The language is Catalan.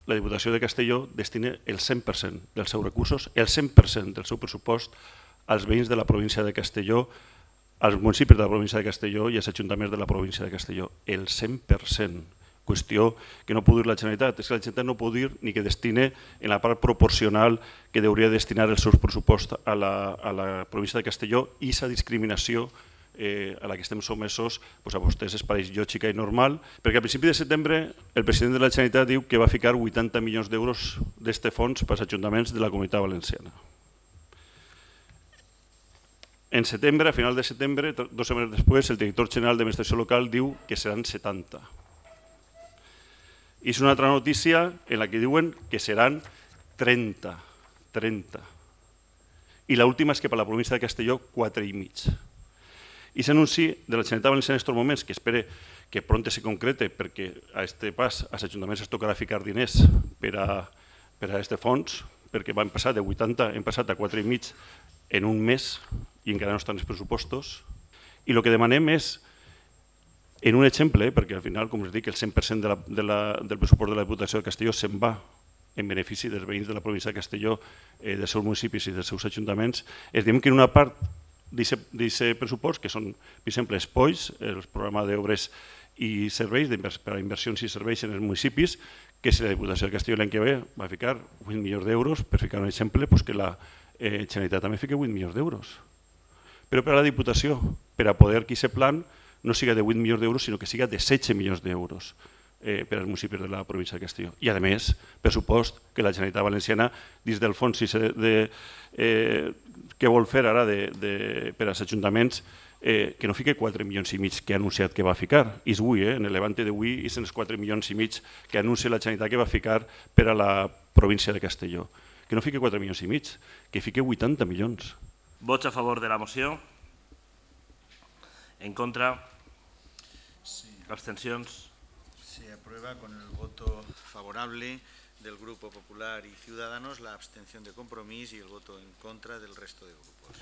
la Diputació de Castelló destina el 100% dels seus recursos, el 100% del seu pressupost als veïns de la província de Castelló, als municipis de la província de Castelló i als ajuntaments de la província de Castelló. El 100%. Qüestió que no pot dir la Generalitat. És que la Generalitat no pot dir ni que destine en la part proporcional que hauria de destinar els seus pressupostos a la província de Castelló, i aquesta discriminació a la que estem sotmesos a vostès es pareix lògica i normal, perquè a principi de setembre el president de la Generalitat diu que va ficar 80 milions d'euros d'aquest fons per als ajuntaments de la Comunitat Valenciana. En setembre, a final de setembre, 2 setmanes després, el director general d'Administració Local diu que seran 70. I és una altra notícia en la que diuen que seran 30. I l'última és que per la província de Castelló 4,5. I s'anunci de la Generalitat Valenciana en aquests moments, que espere que pront se concrete, perquè a aquest pas als ajuntaments es tocarà ficar diners per a aquest fons, perquè van passar de 80, hem passat a 4,5 en un mes i encara no estan els pressupostos. I el que demanem és, en un exemple, perquè al final, com us dic, el 100% del pressupost de la Diputació de Castelló se'n va en benefici dels veïns de la província de Castelló, dels seus municipis i dels seus ajuntaments, es diem que en una part d'aquest pressupost, que són, per exemple, els POIs, el programa d'obres i serveis, per a inversions i serveis en els municipis, que si la Diputació de Castelló l'any que ve va ficar 8 milions d'euros, per ficar un exemple, que la Generalitat també fica 8 milions d'euros. Però per a la Diputació, per a poder que aquest plan no siga de 8 milions d'euros, sinó que siga de 16 milions d'euros per als municipis de la província de Castelló. I a més, pressupost que la Generalitat Valenciana, dins del fons que vol fer ara per als ajuntaments, que no fiqui 4,5 milions que ha anunciat que va ficar. És avui, en el Levante d'avui, és en els 4,5 milions que anuncia la Generalitat que va ficar per a la província de Castelló. Que no fiqui 4,5 milions, que fiqui 80 milions. Vots a favor de la moció? ¿En contra? ¿Abstenciones? Se aprueba con el voto favorable del Grupo Popular y Ciudadanos, la abstención de Compromís y el voto en contra del resto de grupos.